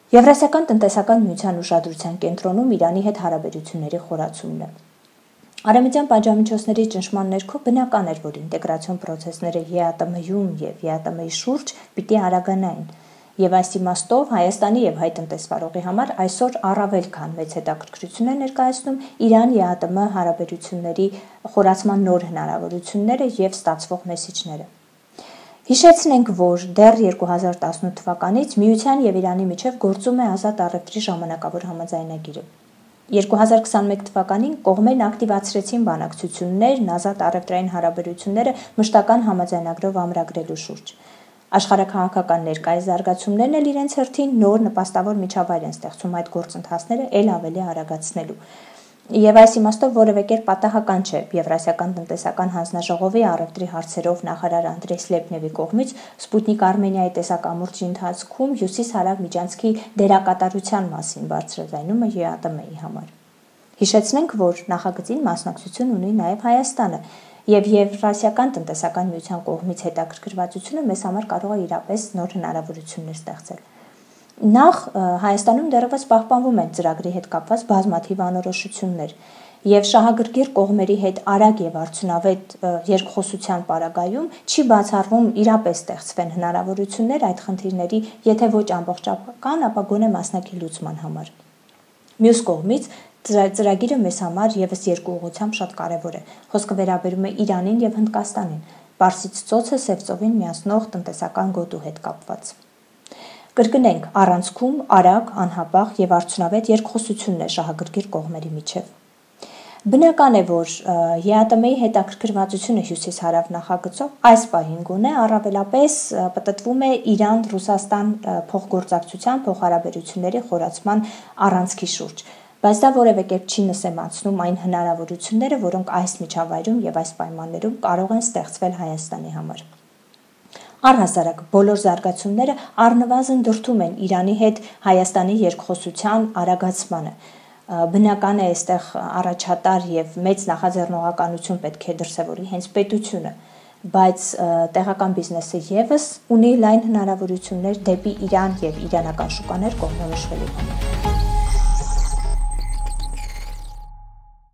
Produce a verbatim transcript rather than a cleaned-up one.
Եվրասիական տնտեսական միության ուշադրության կենտրոնում Իրանի հետ հարաբերությունների խորացումն է։ Արևմտյան պատժամիջոցների ճնշման ներքո բնական էր, որ ինտեգրացիոն process-ները ԵԱՏՄ-ում եւ ԵԱՏՄ-ի շուրջ պիտի արագանային, եւ այս իմաստով Հայաստանի եւ հայ տնտեսվարողի համար այսօր առավել քան մեծ հետաքրքրություն է ներկայացնում Իրան-ԵԱՏՄ հարաբերությունների խորացման նոր հնարավորությունները եւ ստացվող մեսիջները։ Հիշեցնենք, որ դեռ երկու հազար տասնութ թվականից Միության եւ Իրանի միջև գործում է ազատ առևտրի ժամանակավոր համաձայնագիրը։ երկու հազար քսանմեկ թվականին կողմերն ակտիվացրեցին բանակցություններն ազատ առևտրային հարաբերությունները մշտական համաձայնագրով ամրագրելու շուրջ։ Աշխարհաքաղաքական ներկայիս զարգացումներն էլ իրենց հերթին նոր նպաստավոր միջավայր են ստեղծում այդ գործընթացները ել ավելի արագացնելու։ Եվ այս իմաստով որևէ կերպ պատահական չէ Եվրասիական տնտեսական հանձնաժողովի առևտրի հարցերով նախարար Անդրեյ Սլեպնևի կողմից Սպուտնիկ Արմենիայի տեսակամուրջի ընթացքում հյուսիս-հարավ միջանցքի դերակատարության մասին բարձրաձայնումը ԵԱՏՄ-ի համար։ Հիշեցնենք, որ նախագծին մասնակցություն ունի նաև Հայաստանը, եւ Եվրասիական տնտեսական միության կողմից հետաքրքրվածությունը մեզ համար կարող է իրապես նոր հնարավորություններ ստեղծել։ Նախ Հայաստանում դեռևս պահպանվում են ծրագրի հետ կապված բազմաթիվ անորոշություններ, եւ շահագրգիռ կողմերի հետ արագ եւ արդյունավետ երկխոսության պարագայում չի բացառվում իրապես ստեղծվեն հնարավորություններ այդ խնդիրների, եթե ոչ ամբողջական, ապա գոնե մասնակի լուծման համար։ Մյուս կողմից ծրագիրը մեզ համար եւս երկու ուղղությամբ շատ կարեւոր է։ Խոսքը վերաբերում է Իրանին եւ Հնդկաստանին, Պարսից ծոցը Սև ծովին միացնող տնտեսական գոտու հետ կապված։ Կրկնենք, առանցքում արագ, անհապաղ եւ արդյունավետ երկխոսությունն է շահագրգիռ կողմերի միջև։ Բնական է, որ ԵԱՏՄ-ի հետաքրքրվածությունը հյուսիս-հարավ նախագծով այս պահին գոնե առավելապես պտտվում է Իրան-Ռուսաստան փոխգործակցության, փոխհարաբերությունների խորացման առանցքի շուրջ, բայց դա որևէ կերպ չի նսեմացնում այն հնարավորությունները, որոնք այս միջավայրում եւ այս պայմաններում կարող են ստեղծվել Հայաստանի համար։ Առհասարակ բոլոր զարգացումները առնվազն դրդում են Իրանի հետ Հայաստանի երկխոսության արագացմանը։ Բնական է այստեղ առաջատար եւ մեծ նախաձեռնողականություն պետք է դրսևորի հենց պետությունը, բայց տեղական բիզնեսը եւս ունի լայն հնարավորություններ դեպի Իրան եւ իրանական շուկաներ կողմնորոշվելու համար։